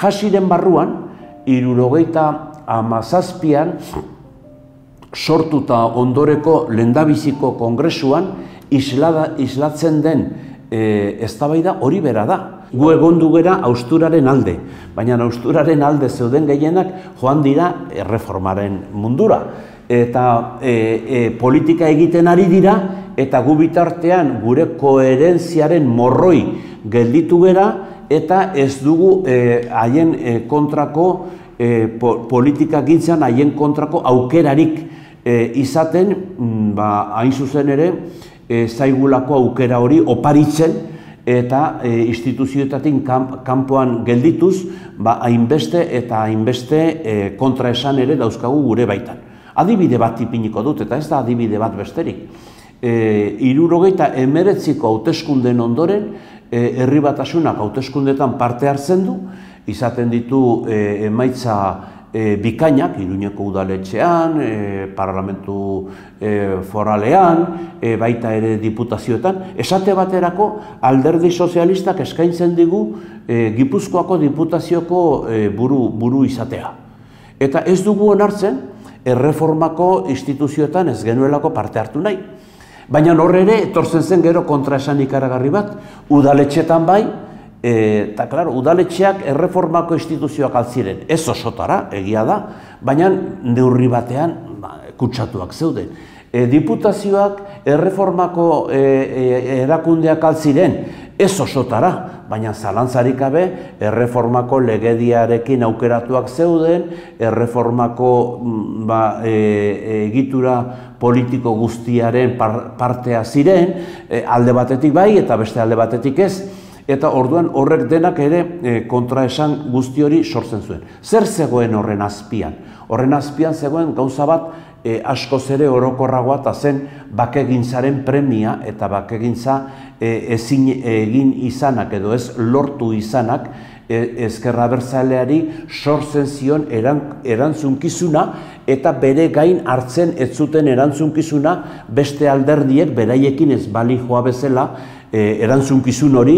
Hasiren barruan, 1977an sortuta ondoreko lehendabiziko kongresuan islatzen den eztabaida hori bera da. Gu egondu gera hausturaren alde, baina hausturaren alde zeuden gehienak joan dira erreformaren mundura. Eta politika egiten ari dira, eta gu bitartean gure koherentziaren morroi gelditu gera, eta ez dugu haien kontrako politika gintzan, haien kontrako aukerarik izaten, hain zuzen ere, zaigulako aukera hori oparitzen, eta instituzioetatik kanpoan geldituz, hainbeste eta hainbeste kontraesan ere dauzkagu gure baitan. Adibide bat ipiniko dut, eta ez da adibide bat besterik. 1979ko hauteskunden ondoren, Herri Batasunak hauteskundetan parte hartzen du, izaten ditu emaitza bikainak, Iruñeko udaletxean, parlamentu foralean, baita ere diputazioetan. Esate baterako Alderdi Sozialistak eskaintzen digu Gipuzkoako diputazioko buru izatea. Eta ez dugu onartzen, erreformako instituzioetan ez genuelako parte hartu nahi. Baina horre ere, etortzen zen gero kontraesan ikaragarri bat, udaletxetan bai, eta, klaro, udaletxeak erreformako instituzioak altziren. Ez osotara, egia da, baina neurri batean kutsatuak zeuden. Diputazioak erreformako erakundeak altziren, ez osotara, baina zalantzarik gabe erreformako legediarekin aukeratuak zeuden, erreformako egitura politiko guztiaren partea ziren, alde batetik bai eta beste alde batetik ez, eta orduan horrek denak ere kontraesan guzti hori sortzen zuen. Zer zegoen horren azpian? Horren azpian zegoen gauza bat askoz ere orokorragoa eta zen bakegintzaren premia eta bakegintza ezin egin izanak edo ez lortu izanak ezker abertzaleari sortzen zion erantzunkizuna eta bere gain hartzen ez zuten erantzunkizuna beste alderdiek beraiekin ez bali joa bezala erantzunkizun hori